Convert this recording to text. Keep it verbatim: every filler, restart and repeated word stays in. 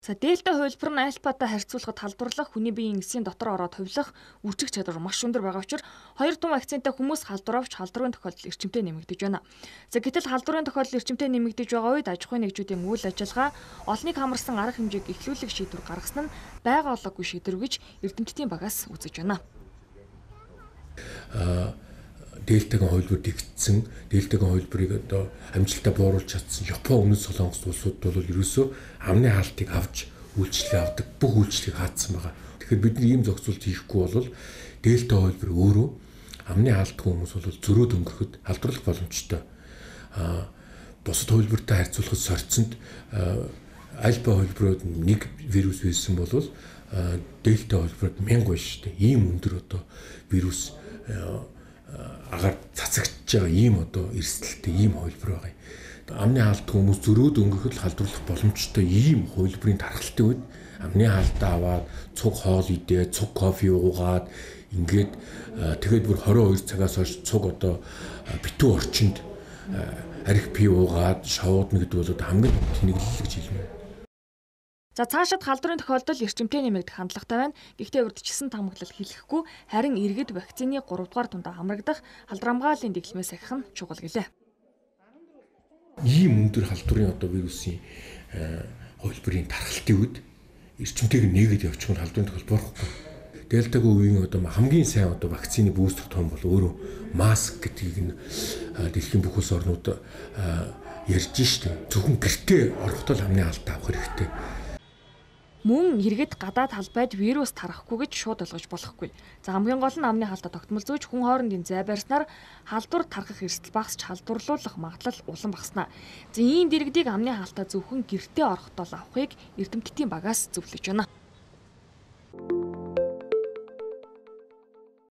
За дельта хувилбар нь альфатай харьцуулахад халдварлах, хүний биеийн эсийн дотор ороод хувилах үржих чадвар маш өндөр байгаа учраас хоёр тун вакцинтай хүмүүс халдвар авч халдварын тохиолдол эрчимтэй нэмэгдэж байна. За гэтэл халдварын тохиолдол эрчимтэй нэмэгдэж байгаа үед аж ахуйн нэгжүүдийн үйл ажиллагаа олныг хамарсан арга хэмжээг эхлүүлэх шийдвэр гаргасан нь байгаа олоогүй шийдвэр гэж эрдэмтдийн багаас үзэж байна. Дельтагийн хувилбар дэгдсэн, дельтагийн хувилбарыг одоо амжилтаа бууруулж чадсан Япон, Өмнөд Солонгос улсууд бол ерөөсөө амны хаалтыг авч үйлчлэг авдаг, бүх үйлчлэгийг хаацсан байгаа. Тэгэхээр бид ийм зохицуулт хийхгүй бол дельта хувилбар өөрөө амны хаалтгүй хүмүүс бол зөрөөд өнгөрөхөд халдварлах боломжтой. Аа бусад хувилбартай харьцуулахад сорьцонд альфа хувилбарууд нэг вирус байсан бол дельта хувилбарт мянга байна шүү дээ. Ийм өндөр одоо вирус агаар цацагдж байгаа ийм одоо эрсдэлтэй ийм хувилбар байгаа. Амны хаалттай хүмүүс зөрөөд өнгөрөхөд халдварлах боломжтой ийм хувилбарын тархалтын үед амны хаалтаа аваад цуг хоол идээ, цуг кофе уугаад ингээд тэгээд бүр хорин хоёр цагаас хойш цуг одоо битүү орчинд арх пив уугаад шавуудна гэдэг бол хамгийн тэнэглэл гэж хэлнэ. За цаашид халдварын тохиолдол эрчимтэй нэмэгдэх хандлагатай байна. Гэхдээ урьдчилсан тамхилал хэлэхгүй харин иргэд вакцины гурав дугаар тундаа хамрагдах халдвар хамгааллын дэглэмээс ахих нь чухал гэлээ. Ийм өндөр халдварын одоо вирусын хувилбарын тархалтын үед эрчимтэйг нээгээд явчих нь халдварын тохиолдол болохгүй. Дельтагийн үеийн одоо хамгийн сайн одоо вакцины бустер том бол өөрөө маск гэдгийг нь дэлхийн бүх улс орнууд ярьж штэ. Зөвхөн гэртээ орохдоо амны хаалтаа авах хэрэгтэй. Мөн иргэд гадаад талбайд вирус тарахгүй гэж шууд ойлгож болохгүй. За хамгийн гол нь амны хаалтаа тогтмол зөөж хүн хоорондын зай барьснаар халдвар тархах эрсдэл багасч халдварлуулах магадлал улам багаснаа. За ийм дэргэдийг амны хаалтаа зөвхөн гэртээ орохдоо авахыг эрдэмтдийн багаас зөвлөж байна.